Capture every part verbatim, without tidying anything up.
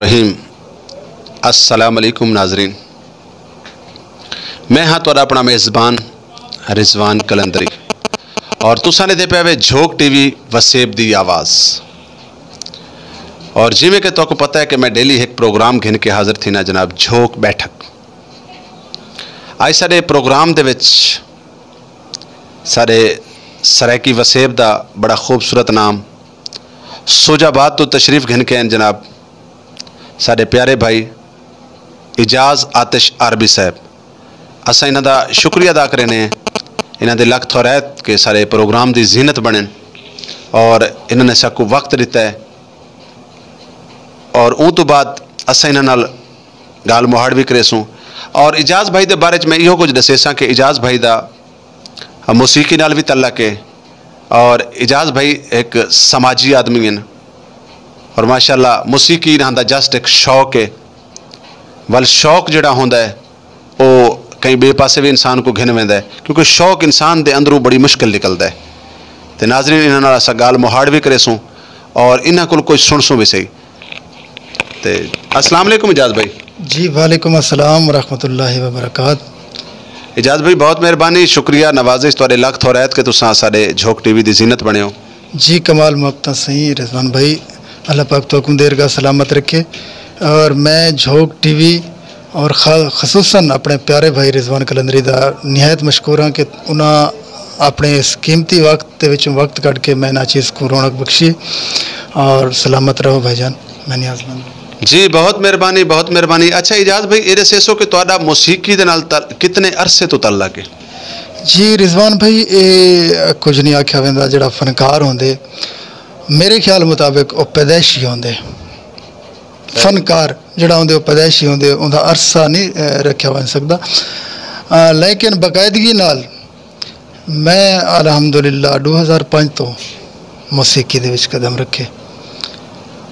رحیم۔ السلام علیکم ناظرین، میں ہاں تہاݙا اپݨا میزبان رضوان قلندری، اور تساں ݙیہدے پئے وے جھوک ٹی وی، وسیب دی آواز۔ اور جیویں کہ تہاکوں پتہ ہے کہ میں ڈیلی ہک پروگرام گھن کے حاضر تھینا جناب، جھوک بیٹھک۔ اڄ ساݙے پروگرام دے وچ ساݙے سرائیکی وسیب دا بڑا خوبصورت نام سوجھ آباد توں تشریف گھن کے آئن جناب، ساݙے پیارے بھائی اعجاز آتش عربی صاحب۔ اساں انہاں دا شکریہ ادا کرینے ہیں، انہاں دے لکھ تھورائت کہ ساݙے پروگرام دی زینت بݨن، اور انہاں نے ساکوں وقت ݙتا ہے۔ اور اوں توں بعد اساں انہاں نال ڳالھ مہاڑ وی کریسوں۔ اور اعجاز بھائی دے بارے چ میں ایہو کجھ ݙسیساں کہ اعجاز بھائی دا موسیقی نال وی تعلق ہے، اور اعجاز بھائی ہک سماجی آدمی ہن، اور ماشاءاللہ موسیقی انہاں دا جسٹ ہک شوق ہے۔ ول شوق جڑا ہوندا ہے، او کہیں ٻئے پاسے وی انسان کوں گھن ویندا ہے، کیونکہ شوق انسان دے اندروں بڑی مشکل نکلدا ہے۔ تے ناظرین، انہاں نال اساں ڳالھ مہاڑ وی کریسوں اور انہاں کول کجھ سݨسوں وی صحیح۔ تے السلام علیکم اعجاز بھائی۔ جی، وعلیکم السلام ورحمۃ اللہ وبرکاتہ۔ اعجاز بھائی، بہت مہربانی، شکریہ، نوازش، تہاݙے لکھ تھورائت کہ تساں ساݙے جھوک ٹی وی دی زینت بݨے ہو۔ جی، کمال محبتاں سئیں رضوان بھائی، اللہ پاک تہاکوں دیرگاہ سلامت رکھے۔ اور میں جھوک ٹی وی اور خا-، خصوصاً اپݨے پیارے بھائی رضوان قلندری دا نہایت مشکور ہاں کہ انہاں اپݨے اس قیمتی وقت دے وچوں وقت کڈھ کے میں ناچیز کوں رونق بخشی۔ اور سلامت رہو بھائی جان، میں نیاز مند۔ جی، بہت مہربانی، بہت مہربانی۔ اچھا اعجاز بھائی، اے ݙسیسو کہ تہاݙا موسیقی دے نال تل-، کتنے عرصے توں تعلق ہے؟ جی رضوان بھائی، اے کجھ نہیں آکھیا ویندا، جڑا فنکار ہوندے، میرے خیال مطابق او پیدائشی ہوندے۔ فنکار جڑا ہوندے، او پیدائشی ہوندے، اوندا عرصہ نہیں، اے، رکھیا ونڄ سڳدا۔ آ، لیکن باقاعدگی نال میں الحمدللہ ݙو ہزار پنج توں موسیقی دے وچ قدم رکھے۔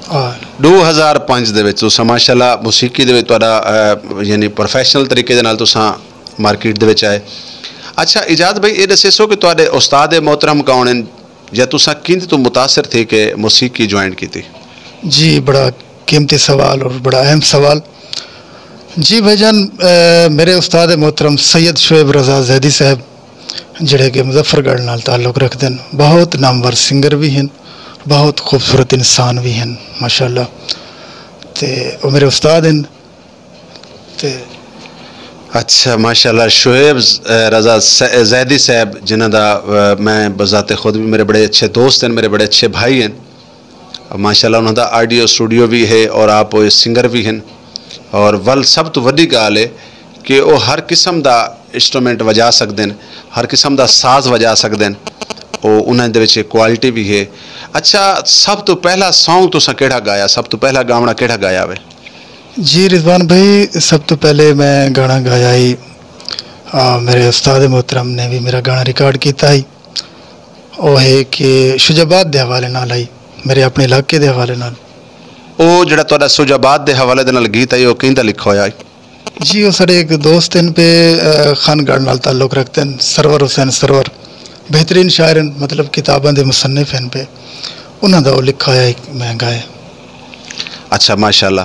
آ، ݙو ہزار پنج دے وچ تساں ماشاءاللہ موسیقی دے وچ تہاݙا، آ، یعنی پروفیشنل طریقے دے نال تساں مارکیٹ دے وچ آئے۔ اچھا اعجاز بھائی، اے ݙسیسو کہ تہاݙے استاد محترم کون ہن؟ یا تساں کیندے توں متاثر تھی کے موسیقی جوائن کیتی؟ جی، بڑا قیمتی سوال اور بڑا اہم سوال۔ جی بھائی جان، اے، میرے استاد محترم سید شعیب رضا زیدی صاحب، جڑے کہ مظفر گڑھ نال تعلق رکھدن، بہت نامور سنگر وی ہن، بہت خوبصورت انسان وی ہن ماشاءاللہ۔ تے او میرے استاد ہن۔ تے اچھا، ماشاءاللہ، شعیب ز-، اے، رضا س-، زیدی صاحب، جنہاں دا، اے، میں بذات خود بھی، میرے بڑے اچھے دوست ہیں، میرے بڑے اچھے بھائی ہیں۔ ماشاءاللہ، انہاں دا آڈیو اسٹوڈیو بھی ہے اور آپ سنگر بھی ہیں۔ اور ول سب تو وڈی ڳالھ ہے کہ او ہر قسم دا انسٹرومنٹ وجا سڳدن، ہر قسم دا ساز وجا سڳدن۔ او انہاں دے وچ کوالٹی بھی ہے۔ اچھا، سب تو پہلا سانگ تساں کیڑھا گایا؟ سب تو پہلا گاوݨا کیڑھا گایا وے؟ جی رضوان بھائی، سب توں پہلے میں گانا گایا ہی، آ، میرے استاد محترم نے بھی میرا گانا ریکارڈ کیتا ہی۔ او ہے کہ شجاع آباد دے حوالے نال ہی، میرے اپنے علاقے دے حوالے نال۔ او جڑا تہاݙا شجاع آباد دے حوالے دے نال گیت ہے، او کیندا لکھا ہویا ہے؟ جی، او ساݙے ہک دوست ہن پئے، آ، خان گڑھ نال تعلق رکھدے ہن، سرور حسین سرور، بہترین شاعر ہن، مطلب کتاباں دے مصنف ہن پئے، انہاں دا او لکھا ہویا ہک میں گایا۔ اچھا، ماشاءاللہ۔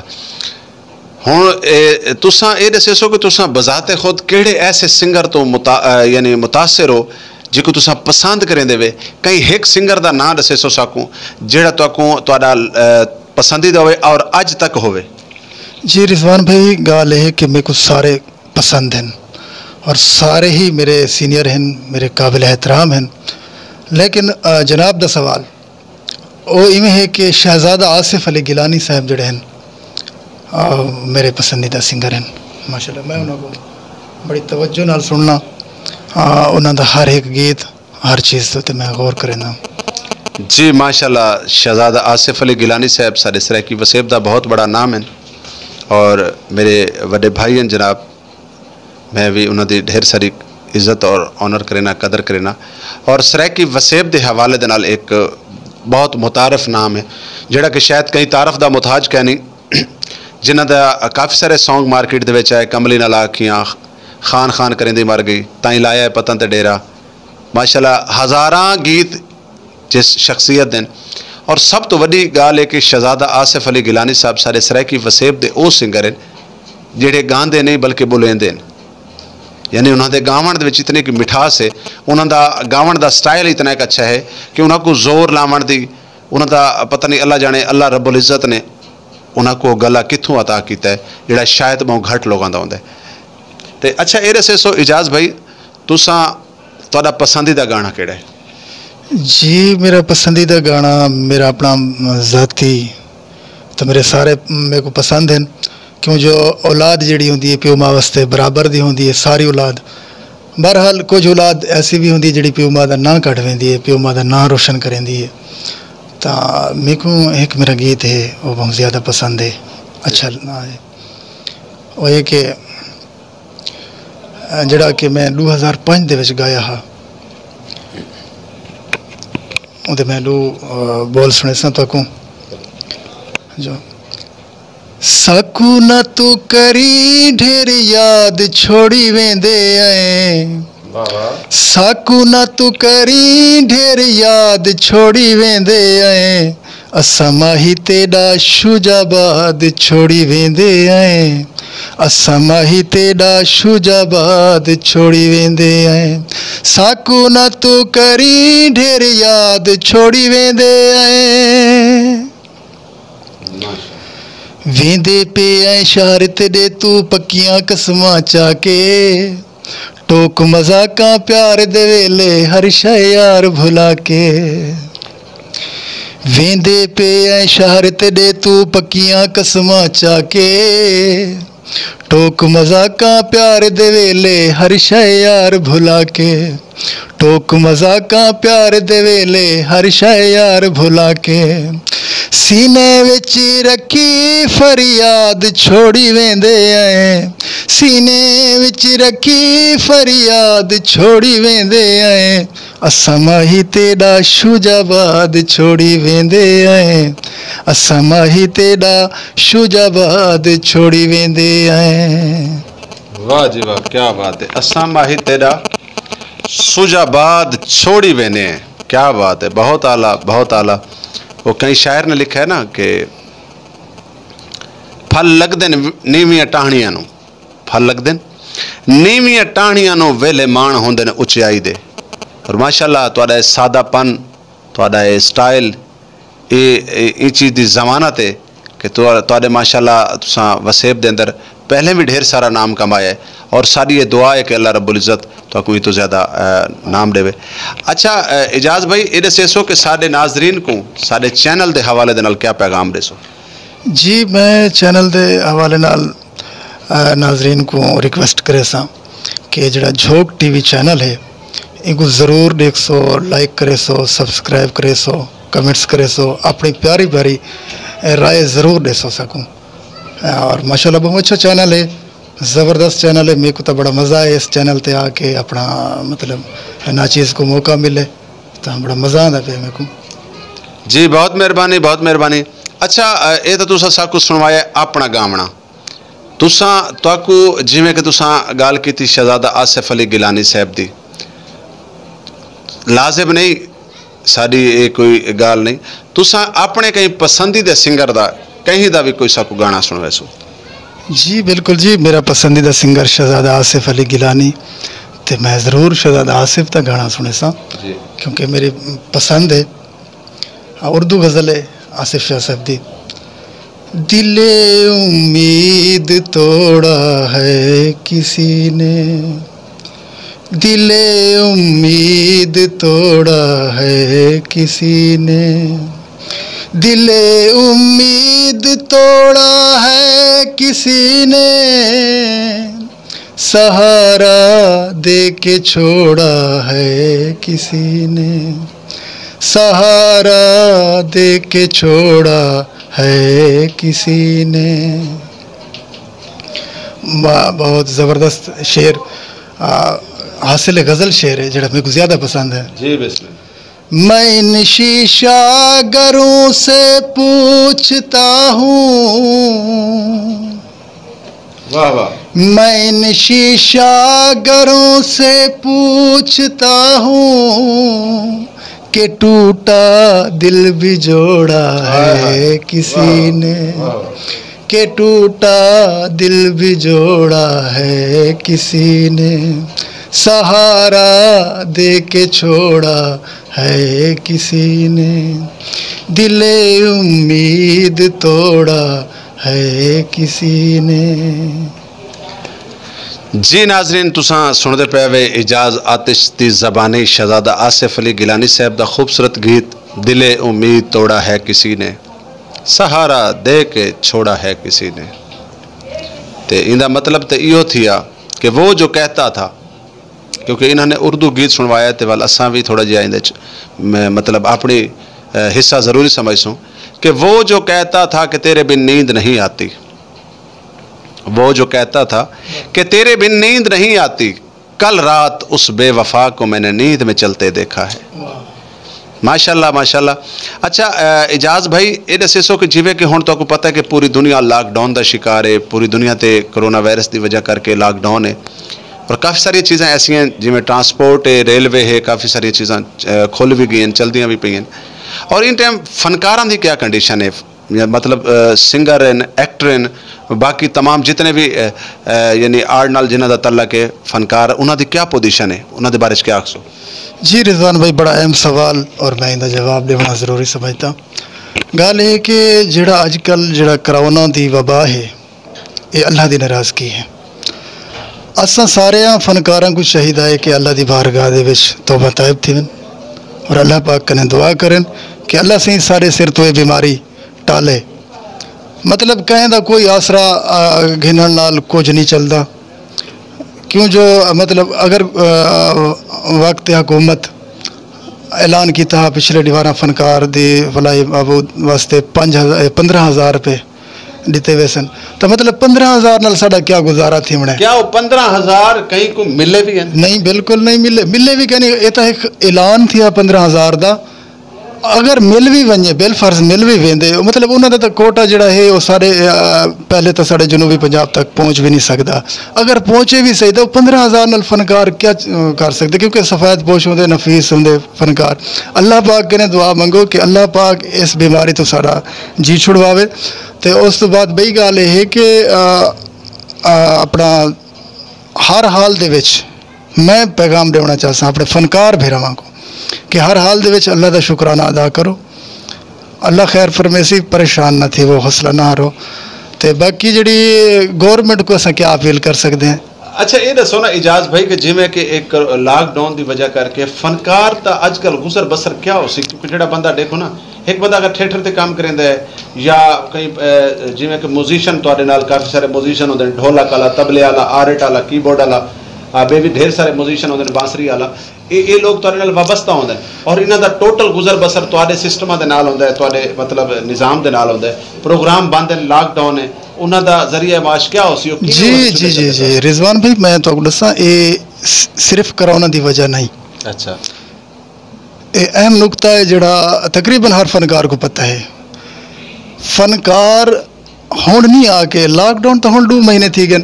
ہݨ اے، تساں اے ݙسیسو کہ تساں بذات خود کیڑھے ایسے سنگر توں متا-، اے، یعنی متاثر ہو، جیکوں تساں پسند کریندے وے؟ کہیں ہک سنگر دا ناں ݙسیسو ساکوں، جیڑھا تہاکوں، تہاݙا، اے، پسندیدہ ہووے اور اڄ تک ہووے؟ جی رضوان بھائی، ڳالھ اے ہے کہ میکوں سارے پسند ہن اور سارے ہی میرے سینئر ہن، میرے قابل احترام ہن، لیکن، آ، جناب دا سوال او ایویں ہے کہ شہزادہ آصف علی گیلانی صاحب جڑے ہن، آ، میرے پسندیدہ سنگر ہن۔ ماشاءاللہ، میں انہاں کوں بڑی توجہ نال سننا، آ، انہاں دا ہر ہک گیت، ہر چیز تے میں غور کریندا۔ جی ماشاءاللہ، شہزادہ آصف علی گیلانی صاحب ساݙے سرائیکی وسیب دا بہت بڑا نام ہن اور میرے وݙے بھائی ہن جناب۔ میں وی انہاں دی ڈھیر ساری عزت اور آنر کرینا، قدر کرینا۔ اور سرائیکی وسیب دے حوالے دے نال ایک بہت متعارف نام ہے، جڑا کہ شاید کہیں تعارف دا محتاج کائنی، جنہاں دا کافی سارے سانگ مارکیٹ دے وچ آئے، کملی نال آکھیاں، خان خان کریندی مر گئی، تائیں لایا ہے پتن تے ڈیرہ۔ ماشاءاللہ ہزاراں گیت جس شخصیت دن۔ اور سب توں وݙی ڳالھ ہے کہ شہزادہ آصف علی گیلانی صاحب ساݙے سرائیکی وسیب دے او سنگر ہن جیڑھے ڳاندے نہیں بلکہ ٻولیندے ہن۔ یعنی انہاں دے ڳاوݨ دے وچ اتنی کہ مٹھاس ہے، انہاں دا ڳاوݨ دا سٹائل اتنا ایک اچھا ہے کہ انہاں کوں زور لاوݨ دی، انہاں دا پتہ نہیں، اللہ جاݨے، اللہ رب العزت نے انہاں کوں گلا کتھوں عطا کیتا ہے جیڑھا شاید ٻہوں گھٹ لوکاں دا ہوندا ہے۔ تے اچھا اے ݙسیسو اعجاز بھائی، تساں، تہاݙا پسندیدہ گانا کیڑھا ہے؟ جی، میرا پسندیدہ گانا، میرا اپنا ذاتی، تو میرے سارے میرے کو پسند ہیں، کیوں جو اولاد جیڑی ہوندی ہے پیو ماں واسطے برابر دی ہوندی ہے، ساری اولاد۔ بہرحال کچھ اولاد ایسی بھی ہوندی ہے جیڑی پیو ماں دا ناں کڈھ ویندی ہے، پیو ماں دا ناں روشن کریندی ہے۔ تاں میکوں ہک میرا گیت ہے، وہ بہت زیادہ پسند ہے، اچھا ہے۔ وہ یہ کہ جڑا کہ میں ݙو ہزار پنج دے وچ گایا ہا، اودے میں ݙو بول سݨیساں تہاکوں۔ جو ساکوں نہ توں کریں ڈھیر، یاد چھوڑی ویندے ایں۔ ساکوں نہ توں کریں ڈھیر، یاد چھوڑی ویندے ایں۔ اساں ماہی تیݙا شجاع آباد چھوڑی ویندے ایں۔ اساں ماہی تیݙا شجاع آباد چھوڑی ویندے ایں۔ ساکوں نہ توں کریں ڈھیر، یاد چھوڑی ویندے ایں۔ ویندے پئے ایں شہر تیݙے توں، پکیاں قسماں چا کے۔ ٹوک مذاقاں پیار دے ویلے، ہر شے یار بھلا کے۔ ویندے پئے ایں شہر تیݙے توں، پکیاں قسماں چا کے۔ ٹوک مذاقاں پیار دے ویلے، ہر شے یار بھلا کے۔ ٹوک مذاقاں پیار دے ویلے، ہر شے یار بھلا کے۔ سینے وچ رکھی فریاد، چھوڑی ویندے ایں۔ سینے وچ رکھی فریاد، چھوڑی ویندے ایں۔ اساں ماہی تیݙا شجاع آباد چھوڑی ویندے ایں۔ اساں ماہی تیݙا شجاع آباد چھوڑی ویندے ایں۔ واہ جی واہ، کیا بات ہے۔ اساں ماہی تیݙا شجاع آباد چھوڑی ویندے ایں۔ کیا بات ہے، بہت اعلیٰ، بہت اعلیٰ۔ وہ کہیں شاعر نے لکھا ہے نا کہ پھل لڳدن نیویاں ٹاہݨیاں نوں، پھل لڳدن نیویاں ٹاہݨیاں نوں، ویلھے ماݨ ہوندن اچائی دے۔ اور ماشاءاللہ تہاݙا اے سادہ پن، تہاݙا اے سٹائل، اے، اے، ایں چیز دی ضمانت ہے کہ تہاݙے ماشاءاللہ تساں وسیب دے اندر پہلے بھی ڈھیر سارا نام کمایا ہے، اور ساݙی اے دعا ہے کہ اللہ رب العزت تہاکوں ایں توں زیادہ نام ݙیوے۔ اچھا اعجاز بھائی، اے ݙسیسو کہ ساݙے ناظرین کوں ساݙے چینل دے حوالے دے نال کیا پیغام ݙیسو؟ جی، میں چینل دے حوالے نال ناظرین کوں ریکویسٹ کریساں کہ جڑا جھوک ٹی وی چینل ہے، اینکوں ضرور ݙیکھسو، لائک کریسو، سبسکرائب کریسو، کمنٹس کریسو، اپݨی پیاری پیاری رائے ضرور ݙیسو ساکوں۔ اور ماشاءاللہ بہت اچھا چینل ہے، زبردست چینل ہے۔ میکوں تاں بڑا مزہ آئے اس چینل تے آ کے، اپݨا مطلب ناچیز کوں موقع ملے تاں بڑا مزہ آندا پیا میکوں۔ جی بہت مہربانی، بہت مہربانی۔ اچھا، اے تاں تساں ساکوں سݨوایا اپݨا ڳاوݨا، تساں، تہاکوں جیویں کہ تساں ڳالھ کیتی شہزادہ آصف علی گیلانی صاحب دی، لازم نہیں، ساݙی اے کوئی ڳالھ نہیں، تساں اپݨے کہیں پسندیدہ سنگر دا، کہیں دا وی کوئی ساکوں گانا سݨویسو۔ جی بالکل جی، میرا پسندیدہ سنگر شہزادہ آصف علی گیلانی، تے میں ضرور شہزادہ آصف دا گانا سݨیساں، جی۔ کیونکہ میری پسند ہے۔ اردو غزل ہے آصف شاہ صاحب دی۔ دل امید توڑا ہے کسی نے، دل امید توڑا ہے کسی نے، دل امید توڑا ہے کسی نے، سہارا دے کے چھوڑا ہے کسی نے، سہارا دے کے چھوڑا ہے کسی نے۔ واہ، بہت زبردست شعر، آ، حاصل غزل شعر ہے جڑا میرے کو زیادہ پسند ہے۔ جی بسم اللہ۔ میں ان شیشہ گروں سے پوچھتا ہوں، واہ واہ۔ میں ان شیشہ گروں سے پوچھتا ہوں، کہ ٹوٹا دل بھی جوڑا ہے کسی نے، کہ ٹوٹا دل بھی جوڑا ہے کسی نے، سہارا دے کے چھوڑا ہے کسی نے، دل امید توڑا ہے کسی نے۔ جی ناظرین، تساں سنڑدے پئے وے اعجاز آتش دی زبانی شہزادہ آصف علی گیلانی صاحب دا خوبصورت گیت دل امید توڑا ہے کسی نے، سہارا دے کے چھوڑا ہے کسی نے۔ تے ایندا مطلب تے ایہو تھیا کہ وہ جو کہتا تھا، کیونکہ انہاں نے اردو گیت سنوایا تے ول اساں وی تھوڑا جہا ایندے چ مطلب اپنی حصہ ضروری سمجھسوں کہ وہ جو کہتا تھا کہ تیرے بن نیند نہیں آتی، وہ جو کہتا تھا کہ تیرے بن نیند نہیں آتی، کل رات اس بے وفا کو میں نے نیند میں چلتے دیکھا ہے۔ ماشاءاللہ، ماشاءاللہ۔ اچھا، اعجاز بھائی، یہ دسے سو کہ جیویں کہ ہن تہاکوں پتہ ہے کہ پوری دنیا لاک ڈاؤن دا شکار ہے، پوری دنیا تے کرونا وائرس دی وجہ کر کے لاک ڈاؤن ہے، اور کافی ساری چیزاں ایسیاں ہیں جیویں ٹرانسپورٹ ہے، ریلوے ہے، کافی ساری چیزاں کھل بھی گئی ہیں، چلدیاں بھی پئی ہیں۔ اور ان ٹائم فنکاراں دی کیا کنڈیشن ہے؟ مطلب سنگر ہیں، ایکٹر ہیں، باقی تمام جتنے بھی یعنی آرٹ نال جنہاں دا تعلق ہے، فنکار، انہاں دی کیا پوزیشن ہے، انہاں دے بارے چ کیا آکھسو؟ جی رضوان بھائی، بڑا اہم سوال اور میں ایندا جواب ݙیوݨا ضروری سمجھدا۔ ڳالھ اے کہ جیڑھا اڄ کل جیڑھا کرونا دی وبا ہے، اے اللہ دی ناراضگی ہے۔ اساں ساریاں فنکاراں کوں چاہیدا ہے کہ اللہ دی بارگاہ دے وچ توبہ تائب تھیون اور اللہ پاک کنیں دعا کرن کہ اللہ سئیں ساݙے سر توں اے بیماری ٹالے۔ مطلب کہیں دا کوئی آسرا گھنݨ نال کجھ نی چلدا، کیوں جو مطلب اگر وقت حکومت اعلان کیتا ہا پچھلے ݙیہاڑاں فنکار دی فلاحی بہبود واسطے پنج ہزار پندرہ ہزار روپے ݙتے ویسن، تاں مطلب پندرہ ہزار نال ساݙا کیا گزارا تھیوݨا ہے؟ کیا او پندرہ ہزار کہیں کوں ملے وی ہن؟ نئیں، بالکل نئیں ملے، ملے وی کائنی۔ اے تاں ہک اعلان تھیا پندرہ ہزار دا، اگر مل وی ونڄے، بالفرض مل وی ویندے، مطلب انہاں دا تاں کوٹا جیڑھا ہے او سارے پہلے تاں ساݙے جنوبی پنجاب تک پہنچ وی نی سڳدا۔ اگر پہنچے وی صحیح تاں او پندرہ ہزار نال فنکار کیا کر سڳدے، کیونکہ سفید پوش ہوندے، نفیس ہوندے فنکار۔ اللہ پاک کنیں دعا منگو کہ اللہ پاک اس بیماری توں ساݙا جی چھڑواوے۔ تے اس توں بعد ٻئی ڳالھ اے ہے کہ اپݨا ہر حال دے وچ میں پیغام ݙیوݨا چاہساں اپݨے فنکار بھیراواں کوں کہ ہر حال دے وچ اللہ دا شکرانہ ادا کرو، اللہ خیر فرمیسی، پریشان نہ تھیوو، حوصلہ نہ ہارو۔ تے باقی جیڑھی گورنمنٹ کوں اساں کیا اپیل کر سڳدے ہیں؟ اچھا، اے ݙسو نا اعجاز بھائی کہ جیویں کہ ایک لاک ڈاؤن دی وجہ کر کے فنکار تاں اڄ کل گزر بسر کیا ہوسی، کیونکہ جیڑھا بندہ ݙیکھو نا، ہک بندہ اگر تھیٹر تے کم کریندا ہے یا کہیں جیویں کہ میوزیشن، تہاݙے نال کافی سارے میوزیشن ہوندے ہن، ڈھولک آلا، طبلے آلا، آرٹ آلا، کی بورڈ آلا، ٻئے وی ڈھیر سارے میوزیشن ہوندے ہن، بانسری آلا، اے اے لوک تہاݙے نال وابستہ ہوندے ہن اور انہاں دا ٹوٹل گزر بسر تہاݙے سسٹماں دے نال ہوندا ہے، تہاݙے مطلب نظام دے نال ہوندا ہے۔ پروگرام بند ہن، لاک ڈاؤن ہے، انہاں دا ذریعہ معاش کیا ہوسی؟ او کیویں جی ہوسی؟ جی جی جی رضوان بھائی، میں تہاکوں ݙساں، اے صرف کرونا دی وجہ نئیں۔ اچھا۔ اے اہم نقطہ ہے جیڑھا تقریبا ہر فنکار کوں پتہ ہے۔ فنکار ہݨ نی آ کے، لاک ڈاؤن تاں ہݨ ݙو مہینے تھی ڳن،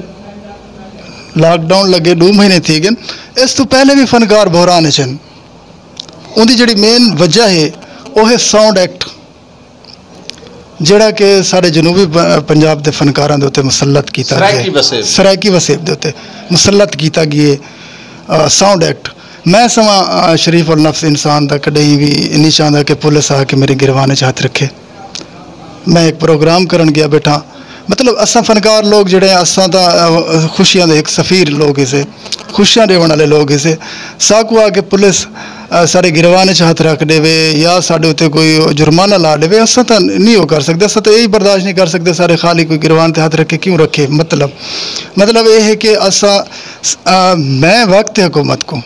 لاک ڈاؤن لڳے ݙو مہینے تھی ڳن، اس توں پہلے وی فنکار بحران اچ ہن۔ اوندی جیڑھی مین وجہ ہے او ہے ساؤنڈ ایکٹ، جیڑھا کہ ساݙے جنوبی پنجاب دے فنکاراں دے اتے مسلط کیتا ڳئے، سرائیکی وسیب دے اتے مسلط کیتا ڳئے ساؤنڈ ایکٹ۔ میں سواں شریف النفس انسان دا کݙاہیں وی نی چاہندا کہ پولیس آ کے میݙی گریوان اچ ہتھ رکھے۔ میں ہک پروگرام کرݨ ڳیا ٻیٹھاں، مطلب اساں فنکار لوک جیڑھے ہیں اساں تاں خوشیاں دے ہک سفیر لوک ہیسے، خوشیاں ݙیوݨ آلے لوک ہیسے۔ ساکوں آ کے پولیس ساݙے گریوان اچ ہتھ رکھ ݙیوے یا ساݙے اتے کوئی جرمانہ لا ݙیوے، اساں تاں نی او کر سڳدے، اساں تاں ایہی برداشت نی کر سڳدے ساݙے خالی کوئی گریوان تے ہتھ رکھے، کیوں رکھے؟ مطلب مطلب اے ہے کہ اساں میں وقت حکومت کوں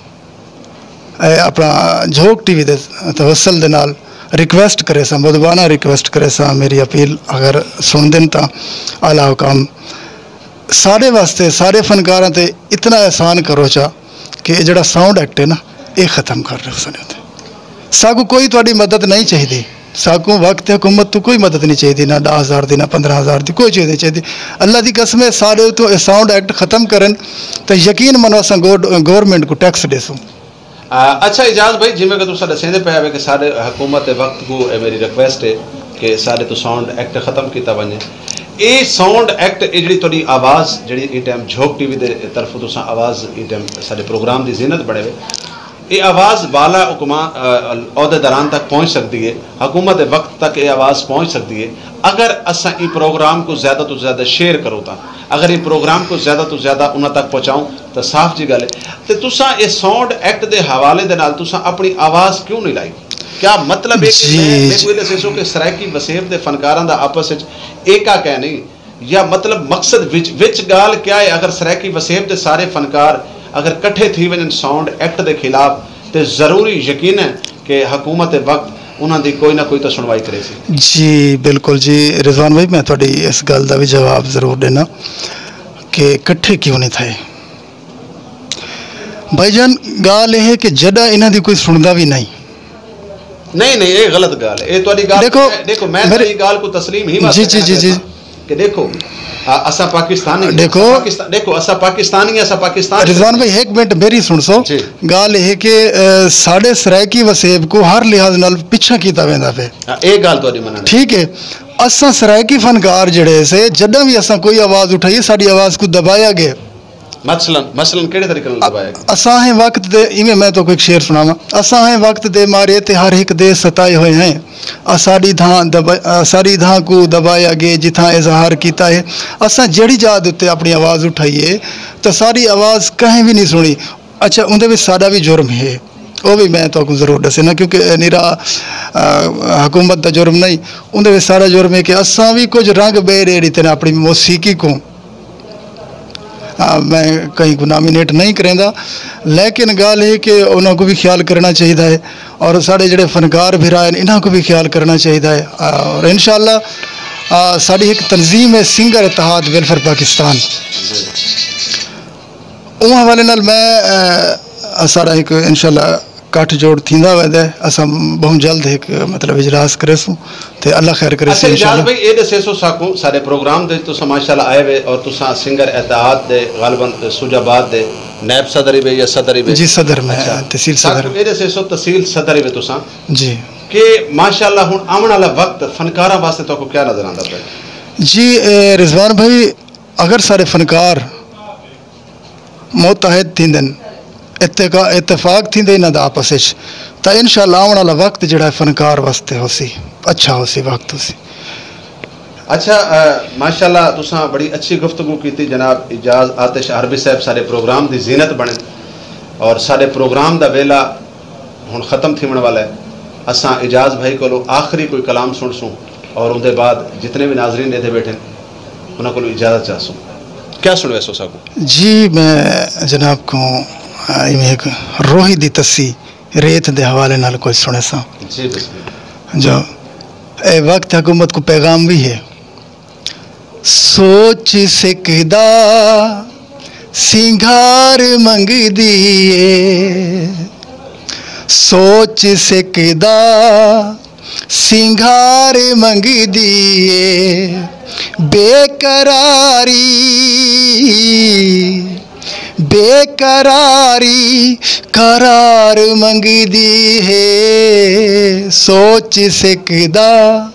اپݨا جھوک ٹی وی دے توسل دے نال ریکویسٹ کریساں، مدبانہ ریکویسٹ کریساں، میݙی اپیل اگر سݨدن تاں اعلی حکام ساݙے واسطے ساݙے فنکاراں تے اتنا احسان کرو چا کہ اے جیڑھا ساؤنڈ ایکٹ ہے نا، اے ختم کر ݙیوسن۔ ساکوں کوئی تہاݙی مدد نئیں چاہیدی، ساکوں وقت حکومت توں کوئی مدد نی چاہیدی، نہ ݙاہ ہزار دی، نہ پندرہ ہزار دی، کوئی چیز نی چاہیدی۔ اللہ دی قسم ہے، ساݙے اتوں اے ساؤنڈ ایکٹ ختم کرن تاں یقین منو اساں گورنمنٹ کوں ٹیکس ݙیسوں۔ اچھا اعجاز بھائی، جیویں کہ تساں ݙسیندے پئے ہاوے کہ ساݙے حکومت وقت کوں اے میݙی ریکویسٹ ہے کہ ساݙے توں ساؤنڈ ایکٹ ختم کیتا ونڄے۔ اے ساؤنڈ ایکٹ، اے جیڑھی تہاݙی آواز جیڑھی ایں ٹائم جھوک ٹی وی دے طرفوں تساں آواز ایں ٹائم ساݙے پروگرام دی زینت بݨے وے، اے آواز بالا حکماں عہدیداران تک پہنچ سڳدی ہے، حکومت وقت تک اے آواز پہنچ سڳدی ہے۔ اگر اساں ایں پروگرام کوں زیادہ توں زیادہ شیئر کروں تاں، اگر ایں پروگرام کوں زیادہ توں زیادہ انہاں تک پہنچاؤں تاں صاف جی ڳالھ ہے۔ تے تساں اے ساؤنڈ ایکٹ دے حوالے دے نال تساں اپݨی آواز کیوں نہیں لائی؟ کیا مطلب ہے کہ میں میکوں اے ݙسیسو کہ سرائیکی وسیب دے فنکاراں دا آپس وچ ایکا کائے نہیں؟ یا مطلب مقصد وچ وچ ڳالھ کیا ہے؟ اگر سرائیکی وسیب دے سارے فنکار اگر کٹھے تھی ونڄن ساؤنڈ ایکٹ دے خلاف، تے ضروری یقین ہے کہ حکومت وقت انہاں دی کوئی نہ کوئی تاں سݨوائی کریسی۔ جی بالکل جی رضوان بھائی، میں تہاݙی اس ڳالھ دا وی جواب ضرور ݙینا کہ کٹھے کیوں نہیں تھئے۔ بھائی جان، ڳالھ اے ہے کہ جݙاں انہاں دی کوئی سݨدا وی نہیں۔ نہیں نہیں، اے غلط ڳالھ ہے۔ اے تہاݙی ڳالھ، ݙیکھو، ݙیکھو، میں تہاݙی ڳالھ کوں تسلیم ہی واسطے جی جی جی جی کہ ݙیکھو، اساں پاکستانی، ݙیکھو، ݙیکھو اساں پاکستانی، اساں پاکستان۔ رضوان بھائی، ہک منٹ میݙی سݨسو۔ جی۔ ڳالھ اے ہے کہ ساݙے سرائیکی وسیب کوں ہر لحاظ نال پچھاں کیتا ویندا پئے۔ ہاں، اے ڳالھ تہاݙی منݨ۔ ٹھیک ہے، اساں سرائیکی فنکار جیڑھے سے، جݙاں وی اساں کوئی آواز اٹھائیے، ساݙی آواز کوں دبایا ڳئے۔ مثلاً، مثلاً کیڑھے طریقے نال دبایا ڳئے؟ اساں ہیں وقت دے، ایویں میں تہاکوں ہک شعر سݨاواں۔ اساں ہیں وقت دے مارے تے ہر ہک دے ستائے ہوئے ہیں۔ اساݙی دھاں دبا-، اساݙی دھاں کوں دبایا ڳئے جتھاں اظہار کیتا ہے۔ اساں جیڑھی جاہ دے اتے اپݨی آواز اٹھائی ہے تاں ساݙی آواز کہیں وی نہیں سݨی۔ اچھا، اوندے وچ ساݙا وی جرم ہے، او وی میں تہاکوں ضرور ݙسینا، کیونکہ نرا، آ، حکومت دا جرم نہیں، اوندے وچ ساݙا جرم ہے کہ اساں وی کجھ رنگ ٻئے ݙے ݙتے نے اپݨی موسیقی کوں۔ آ، میں کہیں کوں نامینیٹ نہیں کریندا، لیکن ڳالھ ہے کہ انہاں کوں وی خیال کرݨا چاہیدا ہے، اور ساݙے جیڑھے فنکار بھرا ہن، انہاں کوں وی خیال کرݨا چاہیدا ہے۔ آ، اور انشاءاللہ، آ، ساݙی ہک تنظیم ہے سنگر اتحاد ویلفیئر پاکستان۔ اوں حوالے نال میں، آ، ساݙا ہک انشاءاللہ گٹھ جوڑ تھیندا ویندا ہے۔ اساں ٻہوں جلد ہک مطلب اجلاس کریسوں تے اللہ خیر کریسی اچھا اعجاز انشاءاللہ۔ بھائی، اے ݙسیسو ساکوں، ساݙے پروگرام دے وچ تساں ماشاءاللہ آئے وے اور تساں سنگر اتحاد دے غالباً سوجھ آباد دے نائب صدر ہی وے یا صدر ہی وے؟ جی صدر میں، اچھا۔ تحصیل صدر۔ ساکوں اے ݙسیسو تحصیل صدر ہی وے تساں۔ جی۔ کہ ماشاءاللہ ہݨ آوݨ والا وقت فنکاراں واسطے تہاکوں کیا نظر آندا پئے؟ جی، اے رضوان بھائی، اگر سارے فنکار متحد تھیندن، اتقا-، اتفاق تھیندے انہاں دا آپس وچ، تاں انشاءاللہ آوݨ والا وقت جیڑھا ہے فنکار واسطے ہوسی، اچھا ہوسی، وقت ہوسی۔ اچھا، آ، ماشاءاللہ تساں بڑی اچھی گفتگو کیتی جناب اعجاز آتش عربی صاحب، ساݙے پروگرام دی زینت بݨن اور ساݙے پروگرام دا ویلا ہݨ ختم تھیوݨ والا ہے۔ اساں اعجاز بھائی کولوں آخری کوئی کلام سݨسوں اور اوندے بعد جتنے وی ناظرین ݙیدھے ٻیٹھن انہاں کولوں اجازت چاہسوں۔ کیا سݨویسو ساکوں؟ جی میں جناب کوں، آ، ایویں ہک روہی دی تسی ریت دے حوالے نال کجھ سݨیساں۔ جی بسم اللہ۔ جو اے وقت حکومت کوں پیغام وی ہے۔ سوچ سکدا سنگھار منگدی اے، سوچ سکدا سنگھار منگدی اے، بے قراری، بے قراری قرار منگدی ہے، سوچ سکدا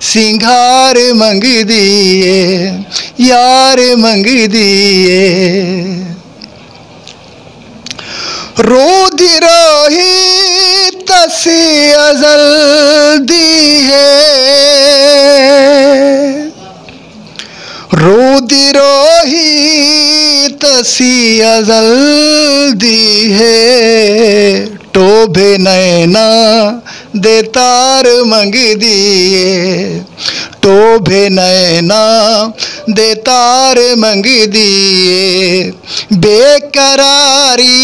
سنگھار منگدی اے، یار منگدی اے۔ رو دی روہی تسی ازل دی ہے، رو دی روہی تسی ازل دی ہے، ٹوبھے نینا دے تار منگدی اے، ٹوبھے نینا دے تار منگدی اے، بے قراری،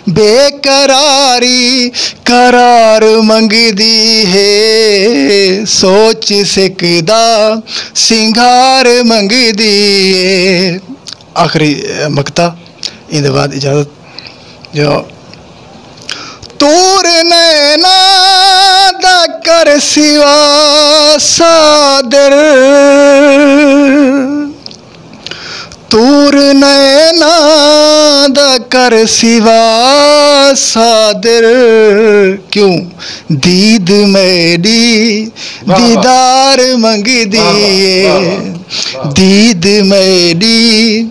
بے قراری قرار منگدی ہے، سوچ سکدا سنگھار منگدی ہے۔ آخری مقطع، ایندے بعد اجازت جو تور نینا دا کر سوا صادر، طور نینا دا کر سوا صادر، کیوں دید میڈی دیدار منگدی اے۔ دید میڈی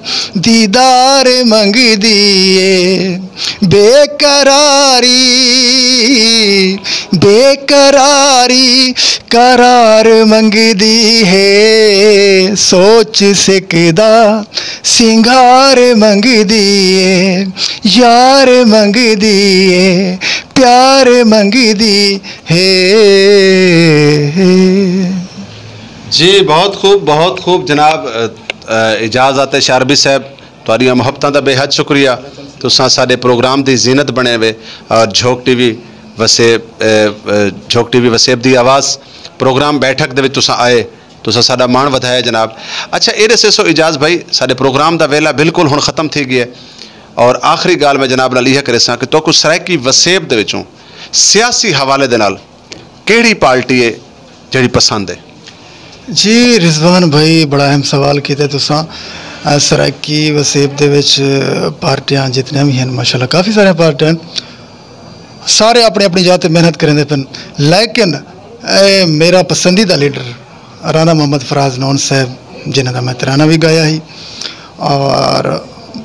دیدار منگدی اے۔ بے قراری، بے قراری قرار منگدی ہے۔ سوچ سکدا سنگار منگدی ہے، یار منگدی ہے، پیار منگدی ہے۔ جی، بہت خوب، بہت خوب جناب۔ اجاز آتش عربی صاحب، تہاڈیاں محبتاں دا بے حد شکریہ۔ تساں ساڈے پروگرام دی زینت بنے وے۔ اور جھوک ٹی وی وسیب، جھوک ٹی وی وسیب دی آواز پروگرام بیٹھک دے وچ تساں آئے، تساں ساڈا ماݨ ودھایا جناب۔ اچھا، اے ݙسیسو اجاز بھائی، ساڈے پروگرام دا ویلا بالکل ہݨ ختم تھی ڳیا ہے، اور آخری ڳالھ میں جناب نال ایہا کریساں کہ تہاکوں سرائیکی وسیب دے وچوں سیاسی حوالے دے نال کیڑھی پارٹی ہے جیڑھی پسند ہے؟ جی رضوان بھائی، بڑا اہم سوال کیتے تساں۔ سرائیکی وسیب دے وچ پارٹیاں جتنیاں وی ہن، ماشاءاللہ کافی ساریاں پارٹیاں ہن، سارے اپنی اپنی جاہ تے محنت کریندے پن، لیکن اے میرا پسندیدہ لیڈر رانا محمد فراز نون صاحب، جنہاں دا میں ترانہ وی گایا ہی، اور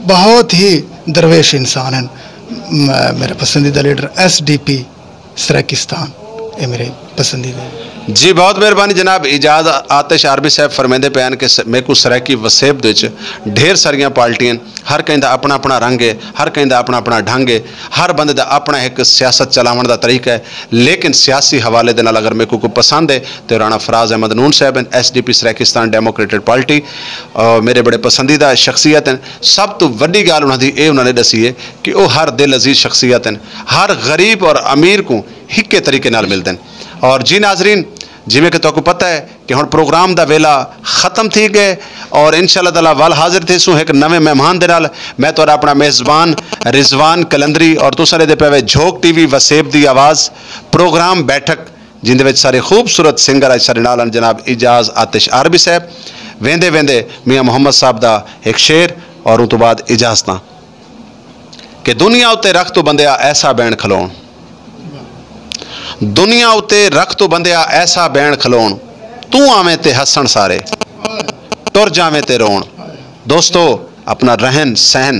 بہت ہی درویش انسان ہن۔ میرا پسندیدہ leader S D P Saraikistan, اے میرے پسندیدہ۔ جی بہت مہربانی جناب۔ اجاز آتش آرمی صاحب فرمیندے پئے ہن کہ میکوں سرائیکی وسیب دے وچ ڈھیر ساریاں پارٹیاں ہن، ہر کہیں دا اپنا اپنا رنگ ہے، ہر کہیں دا اپنا اپنا ڈھنگ ہے، ہر بندے دا اپنا ہک سیاست چلاوݨ دا طریقہ ہے، لیکن سیاسی حوالے دے نال اگر میکوں کوئی پسند ہے تے رانا فراز احمد نون صاحب ہن، S D P Saraikistan democratic party, میرے بڑے پسندیدہ شخصیت ہن۔ سب توں وݙی ڳالھ انہاں دی اے انہاں نے ݙسی ہے کہ او ہر دل عزیز شخصیت ہن، ہر غریب اور امیر کوں ہکے طریقے نال ملدن۔ اور جی ناظرین، جیویں کہ تہاکوں پتہ ہے کہ ہݨ پروگرام دا ویلا ختم تھی ڳئے اور انشاءاللہ تعالی ول حاضر تھیسوں ہک نویں مہمان دے نال۔ میں تہاݙا اپݨا میزبان رضوان قلندری اور تساں ݙیہدے پئے وے جھوک ٹی وی وسیب دی آواز پروگرام بیٹھک، جیندے وچ سارے خوبصورت سنگر اڄ ساݙے نال ہن جناب اجاز آتش آرمی صاحب۔ ویندے ویندے میاں محمد صاحب دا ہک شعر اور اوں توں بعد اجازتاں۔ کہ دنیا اتے رکھ توں بندیا ایسا بین کھلوݨ، دنیا اتے رکھ توں بندیا ایسا بین کھلوݨ، توں آویں تے ہسݨ سارے، ٹر جاویں تے روݨ۔ دوستو، اپݨا رہن سہن،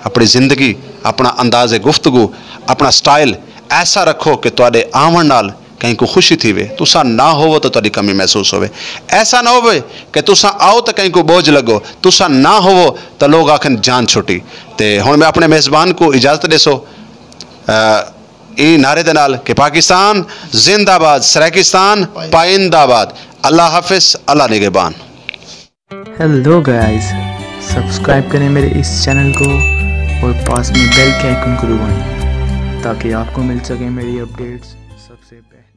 اپݨی زندگی، اپݨا انداز گفتگو، اپݨا سٹائل ایسا رکھو کہ تہاݙے آوݨ نال کہیں کوں خوشی تھیوے، تساں نہ ہووو تاں تہاݙی کمی محسوس ہووے۔ ایسا نہ ہووے کہ تساں آؤ تاں کہیں کوں بوجھ لڳو، تساں نہ ہووو تاں لوک آکھن جان چھٹی۔ تے ہݨ میں اپݨے میزبان کوں اجازت ݙیسو، ایں نعرے دے نال کہ پاکستان زندہ باد، سرائیکستان پائندہ باد۔ اللہ حافظ، اللہ نگہبان۔ ہیلو گائز، سبسکرائب کریں میرے اس چینل کو اور پاس میں بیل کے آئیکن کو دبائیں تاکہ آپ کو مل سکیں میری اپڈیٹس سب سے پہلے۔